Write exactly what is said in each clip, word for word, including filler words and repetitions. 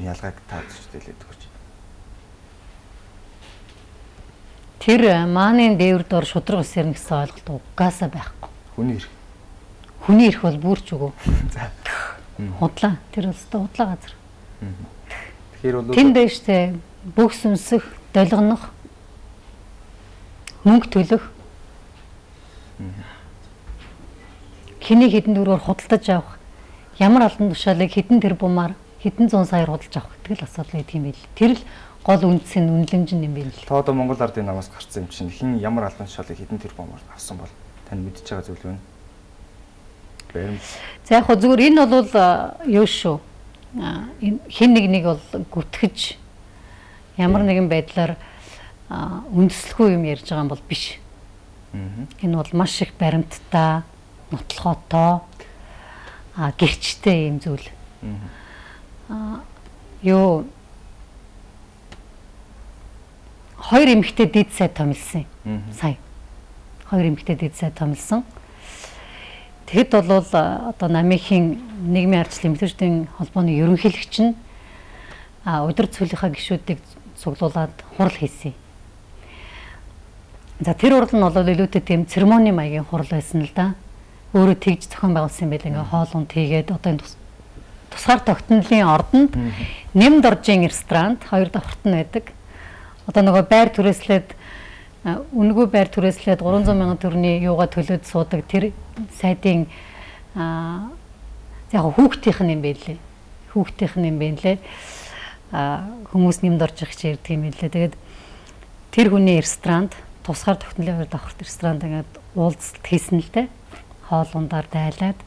чинь ялгааг та зөвчтэй хэлээд өгч. Тэр мааны дээвэр дор шудраг ус ярина гэсэн ойлголт угаасаа байхгүй. Хүний эрх. Хүний эрх бол бүрч үгүй. За. Худлаа. Тэр бол худлаа газар. Тэгэхээр бол тэнд дэжтэй бүх сүнсэх, долгонох, мөнгө төлөх. Хиний хэдэн дөрөөр худалдаж авах, ямар албан тушаалыг хэдэн тэрбумаар, хэдэн зуун саяар худалдаж авах гэдэг л асуудал байдаг юм байл. Тэр л гол үндэс нь үнэлэмж нь юм байл. Та одоо Монгол ардын намаас гарсан юм чинь хин ямар албан тушаалыг хэдэн тэрбумаар авсан бол тань мэдчихэж байгаа зүйл байна. Баримт. За яг хөө зүгээр энэ бол юу шүү. Хин нэг нэг бол гүтгэж ямар нэгэн байдлаар үндэслэхгүй юм ярьж байгаа юм бол биш. Энэ бол маш их баримттай, нотлохотой, а гэрчтэй юм зүйл. Аа юу хоёр эмэгтэй дид сай томилсон. Сая. Хоёр эмэгтэй дид сай томилсон. Тэгэд бол одоо намынхын нийгмийн ардчлалын эмэгтэйчүүдийн холбооны ерөнхийлөгч нь өдөр цөлийнхаа гишүүдийг цуглуулад хурал хийсэн. За тэр хурал нь бол илүүтэй тийм церемони маягийн хурал байсан л да. Өөрөө тэгж зохион байгуулсан байл ингээ хоол унд хийгээд одоо энэ тусгаар тогтнолын ордонд нэмд оржийн ресторанд хоёр давхарт нь байдаг. Одоо нөгөө байр түрээслээд үнэгүй байр түрээслээд гурван зуун мянган төгрөгийн юугаа төлөөд суудаг тэр сайдын аа яг хүүхдийнх нь юм байлээ. Хүүхдийнх нь юм байлээ. Аа хүмүүс нэмд орж их ч ярьдаг юм байлээ. Тэгээд тэр хүний ресторанд тусгаар тогтнолын хоёр давхарт ресторанд ингээд уулзалт хийсэн л дээ. Хоол ундаар дайлаад.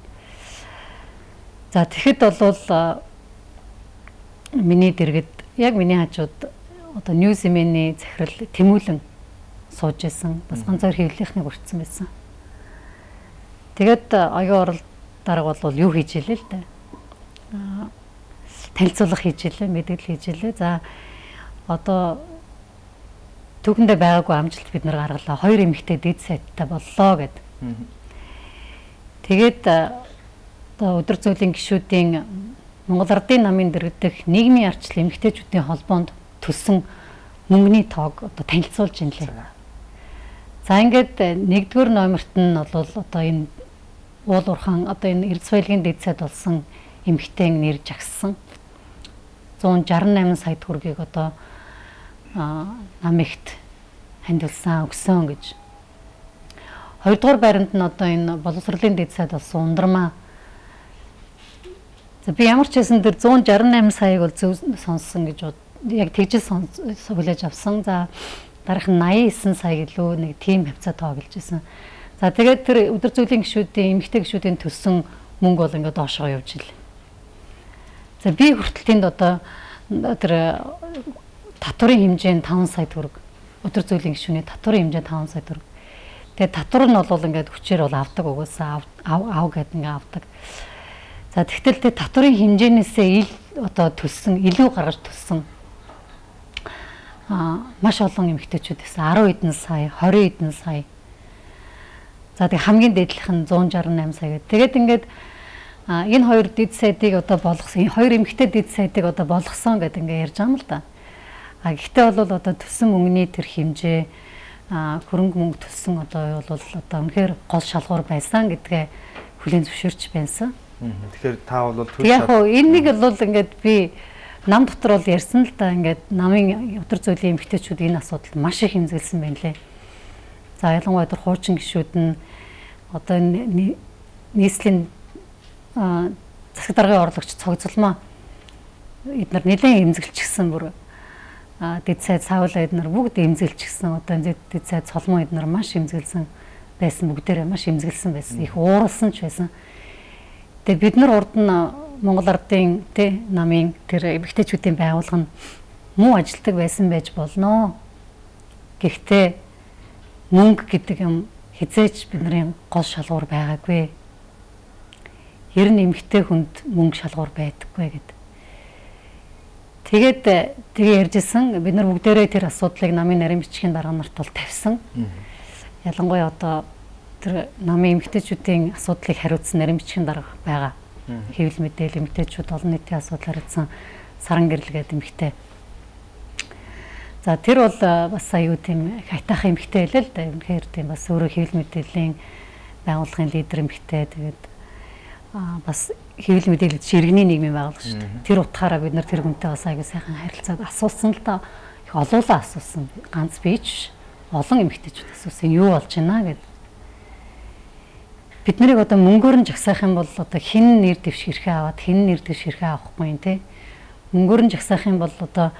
За тэгэхэд бол миний дэргэд яг миний хажууд одоо Ньюзимений захирал Тэмүүлэн сууж исэн. Бас ганцаар хэвлэлийнхнийг урьдсан байсан. Тэгээд оюун орол дарга бол юу хийж илээ л дээ. Аа танилцуулга хийж илээ, мэдээлэл хийж илээ. За одоо түүхэндээ байгаагүй амжилт бид нар гаргалаа. Хоёр эмэгтэй дид сайттай боллоо гэд. Тэгээд одоо өдөр зүйлийн гишүүдийн Монгол Ардын намын дэргэдэх нийгмийн ардчлал эмэгтэйчүүдийн холбоонд төлсөн мөнгөний тоог одоо танилцуулж ин лээ. За ингээд нэгдүгээр номерт нь бол одоо энэ уул уурхаан одоо энэ Эрдэс баялагын дэд сайд болсон эмэгтэй нэр жагссан зуун шарсан найман сая төгрөгийг одоо намигт хандилсан өгсөн гэж. Хоёрдугаар байранд нь одоо энэ боловсролын дэд сайд болсон ундрмаа. За би ямар ч хэсэн тэр зуун шарсан найман саяыг бол зөв сонссон гэж яг тэгжэл хүлээж авсан. За дараах нь наян девять сая гэлөө нэг тим хавцаа тоглож исэн. За тэгээд тэр өдөр зүйлийн гишүүдийн эмэгтэй гишүүдийн төлсөн мөнгө бол ингээд доошоо явж ил. За би хүртэл тэнд одоо тэр татварын хэмжээ нь таван сая төгрөг. Өдөр зүйлийн гишүүний татварын хэмжээ таван сая төгрөг. Тэгээд татвар нь бол ингээд хүчээр бол авдаг угаасаа ав ав гэдэг ингээд авдаг. За тэгтэл тэр татварын хэмжээнээсээ ил одоо төлсөн илүү гаргаж төлсөн а маш олон эмэгтэйчүүд байсан. арван эдэн сая, хорин эдэн сая. За тэг хамгийн дээдлийнх нь зуун шарсан найман сая гэдэг. Тэгээд ингээд энэ хоёр дэд сайдыг одоо болгосон, энэ хоёр эмэгтэй дэд сайдыг одоо болгосон гэдэг ингээд ярьж байгаа юм л да. А гэхдээ бол одоо төлсөн мөнгөний тэр хэмжээ а хөрөнгө мөнгө төлсөн одоо бол одоо үнэхээр гол шалгуур байсан гэдгээ хүлээн зөвшөөрч байсан. Тэгэхээр та бол төлөв. Яг хөө энэ нэг бол ингээд би нам дотор бол ярьсан л да, ингээд намын өдөр зүйлийн эмэгтэйчүүд энэ асуудалд маш их хэмзэлсэн байна лээ. За ялангуяа тэр хуучин гишүүд нь одоо нийслэлийн засаг даргын орлогч цогцолмоо эдгээр нэлээд эмзэглчихсэн бүр дэд сайд савлаа эдгээр бүгд эмзэглчихсэн. Одоо дэд сайд цолмоо эдгээр маш эмзэглсэн байсан, бүгдээрээ маш эмзэглсэн байсан. Их ууралсан ч байсан. Тэгээ бид нар урд нь Монгол Ардын тэ намын тэр эмэгтэйчүүдийн байгууллага нь муу ажилтдаг байсан байж болно. Гэхдээ мөнгө гэдэг юм хизээч бидний гол шалгуур байгаагүй. Ер нь эмэгтэй хүнд мөнгө шалгуур байдаггүй гэд. Тэгээд тэгээ ярьжсэн бид нар бүгдээрээ тэр асуудлыг намын нарийн бичгийн дарга нарт бол тавьсан. Ялангуяа одоо тэр намын эмэгтэйчүүдийн асуудлыг хариуцсан нарийн бичгийн дарга байгаа. Хэвлэл мэдээлэл эмэгтэйчүүд олон нийтийн асуудал хариуцсан Саран гэрэл гэдэг эмэгтэй. За тэр бол бас аюу тийм хайтах эмэгтэй байлаа л да. Үнэхээр тийм бас өөрөө хэвлэл мэдээллийн байгууллагын лидер эмэгтэй. Тэгээд аа бас хэвлэл мэдээлэл ширгэний нийгмийн байгууллага шүү дээ. Тэр утгаараа бид нар тэр хүнтэй бас аюу сайхан харилцаад асуусан л да. Их олоолаа асуусан. Ганц би ч олон эмэгтэйчүүд асуусан юу болж байна гэд. Бид нарыг одоо мөнгөөр нь жагсаах юм бол одоо хэн нэр дэвш хэрхээ аваад хэн нэр дэвш хэрхээ авахгүй юм те. Мөнгөөр нь жагсаах юм бол одоо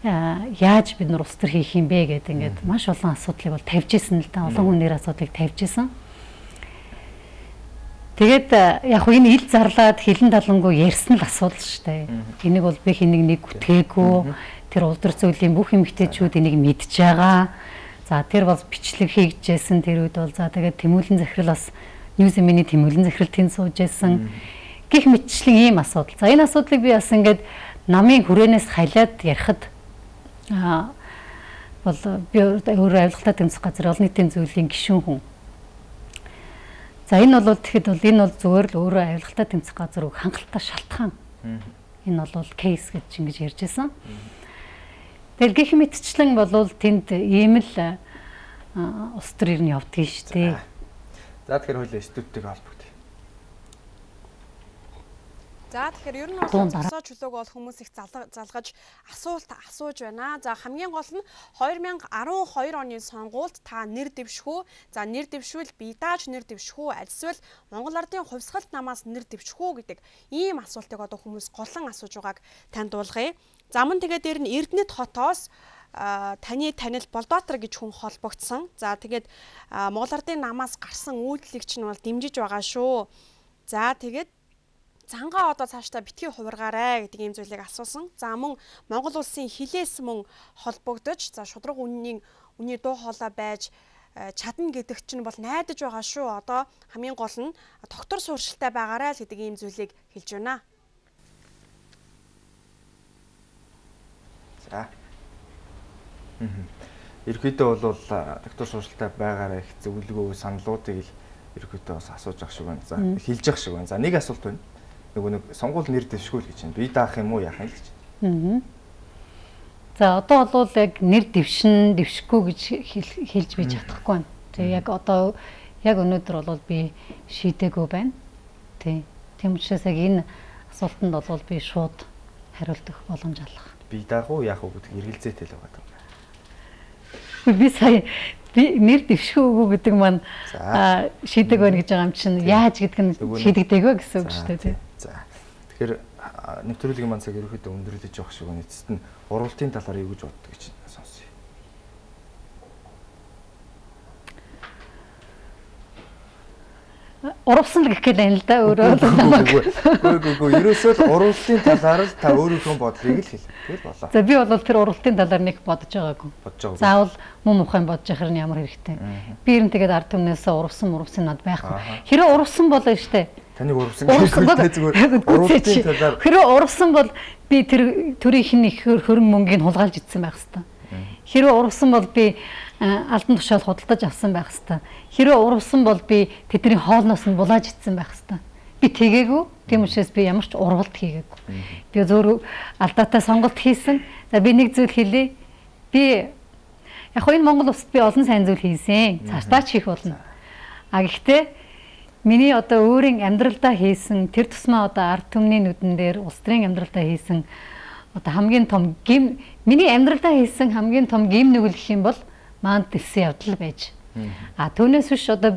яаж бид нар улс төр хийх юм бэ гэдэг ингээд маш олон асуудлыг бол тавьж исэн л да. Олон хүнээр асуудлыг тавьж исэн. Тэгээд яг хөө энэ ил зарлаад хилэн талангуу ярьсан л асуудал шүү дээ. Энийг бол би хэнийг нэг гүтгээгүй. Тэр улдар зүйлийн бүх эмэгтэйчүүд энийг мэдж байгаа. За тэр бол бичлэг хийгджсэн тэр үед бол за тэгээд Тэмүүлэн захирал бас Ньюзминий Тэмүүлэн захирал тэнд сууж байсан. Гэх мэтчлэн ийм асуудал. За энэ асуудлыг би бас ингээд намын хүрээнээс хайлаад ярихад аа бол би өөрөө авилгалтай тэмцэх газар олон нийтийн зүйлийн гишүүн хүн. За энэ бол тэгэхэд бол энэ бол зүгээр л өөрөө авилгалтай тэмцэх газар үг хангалттай шалтгаан. Энэ бол кейс гэж ингэж ярьж байсан. Тэгэл гэх мэтчлэн болвол тэнд ийм л улс төрийн нь явдгийг шүү дээ. За тэгэхээр хоёул студентиг холбогдъё. За тэгэхээр ер нь бол цогцоо чөлөөг бол хүмүүс их залгаж асуулт асууж байна. За хамгийн гол нь хоёр мянган арван хоёр оны сонгуульд та нэр дэвшгүй. За нэр дэвшвэл би дааж нэр дэвшгүй. Альсвал Монгол Ардын хувьсгалт намаас нэр дэвшгүй гэдэг ийм асуултыг одоо хүмүүс голон асууж байгааг танд дуулгая. За мөн тэгээд дээр нь Эрдэнэт хотоос таны танил Болдбаатар гэж хүн холбогдсон. За тэгээд Монгол Ардын намаас гарсан үйлдэлийг чинь бол дэмжиж байгаа шүү. За тэгээд цангаа одоо цаашдаа битгий хувиргаарай гэдэг ийм зүйлийг асуусан. За мөн Монгол улсын хилээс мөн холбогдож за шудраг үнийн үний дуу хоолой байж чадна гэдэг чинь бол найдаж байгаа шүү. Одоо хамгийн гол нь доктор сууршилтай байгаарай л гэдэг ийм зүйлийг хэлж байна. За. Ерөнхийдөө бол доктор сууршилтай байгаарай их зөвлөгөө саналуудыг л ерөнхийдөө бас асууж ах шиг байна. За хэлж ах шиг байна. За нэг асуулт байна. Нөгөө нэг сонгуул нэр дэвшгүй л гэж байна. Би даах юм уу яах юм л гэж. Аа. За одоо бол яг нэр дэвшин дэвшгүй гэж хэлж бий чадахгүй байна. Тэгээ яг одоо яг өнөөдөр бол би шийдээгүй байна. Тий. Тийм учраас яг энэ асуултанд бол би шууд хариулт өгөх боломж олох. Би даах уу яах уу гэдэг эргэлзээтэй л байгаа. Би сая би нэр дэвшгүй гэдэг маань шийдэг байна гэж байгаа юм чинь яаж гэдэг нь шийдэгдэг вэ гэсэн үг шүү дээ. За. Тэгэхээр нэвтрүүлгийн маань цаг ерөөхдөө өндөрлөж явах шиг байна. Эцэст нь уралдын талаар юу гэж боддог гэж сонсъё. Уралсан л гэх гээл юм л да өөрөө намайг. Үгүй үгүй ерөөсөө л уралдын талаар л та өөрийнхөө бодлыг л хэл. Тэгэл болоо. За би бол тэр уралдын талаар нэг бодож байгаагүй. Бодож байгаагүй. Заавал муу мухайн бодож яхаар нь ямар хэрэгтэй. Би ер нь тэгээд ард түмнээс уралсан уралсан над байхгүй. Хэрэв уралсан болоо штэ. Таныг уралсан гэдэг зүгээр уралдын талаар. Хэрэв уралсан бол би тэр төрийнх нь их хөрөнгө мөнгийг хулгайлж идсэн байх хэвээр. Хэрэв уралсан бол би алдан тушаал худалдаж авсан байх хэвээр. Хэрэв уралсан бол би тэдний хоолноос нь булааж идсэн байх хэвээр. Би тэгээгүй. Тийм учраас би ямар ч урвалт хийгээгүй. Би зөв алдаатай сонголт хийсэн. За би нэг зүйл хэлье. Би яг хоо энэ Монгол улсад би олон сайн зүйл хийсэн. Цаашдаа ч хийх болно. А гэхдээ миний одоо өөрийн амьдралдаа хийсэн тэр тусмаа одоо ард түмний нүдэн дээр улс төрийн амьдралдаа хийсэн одоо хамгийн том гим миний амьдралдаа хийсэн хамгийн том гим нүгэл гэх юм бол маанд дэлсэн явдал байж. А түүнээс биш одоо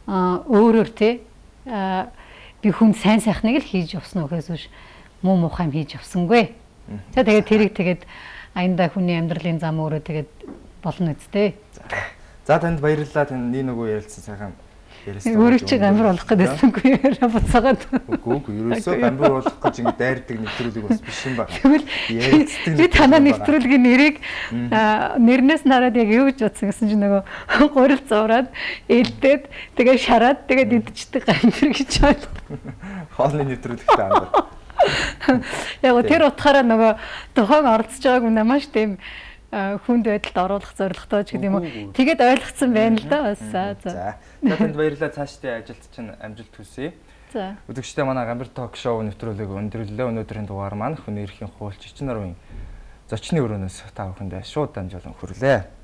өөрөөр тий би хүн сайн сайхныг л хийж явсан үхээс биш муу мухайм хийж явсангүй. За тэгээд тэрийг тэгээд аянда хүний амьдралын зам өөрөө тэгээд болно үсттэй. За танд баярлалаа. Танд нэг нөгөө ярилцсан сайхан ярьсан. Өөрөө чи гамбар болох гэдэгсэнгүй яриа буцаагаад. Үгүй үгүй ерөөсөө гамбар болох гэж ингэ дайрдаг нэвтрүүлэг бас биш юм байна. Тэгвэл би танаа нэвтрүүлгийн нэрийг нэрнээс нараад яг юу гэж бодсон гэсэн чинь нөгөө гурил зураад ээлдээд тэгээ шараад тэгээд идчихдэг гамбар гэж байна. Хоолны нэвтрүүлэгтэй амбар. Яг тэр утгаараа нөгөө тухайн оролцож байгааг нь маш тийм хүнд байдалд оруулах зорилготой ч гэдэг юм уу. Тэгээд ойлгоцсон байна л да бас. За. За танд баярлалаа. Цаашдын ажилд чинь амжилт хүсье. За. Үзэгчдээ манай Гамбар ток шоу нэвтрүүлэг өндөрлөө. Өнөөдрийн дугаар маань хүний эрхийн хуульч Эчин Нурмын зочны өрөөнөөс та бүхэндээ шууд дамжуулан хүрлээ.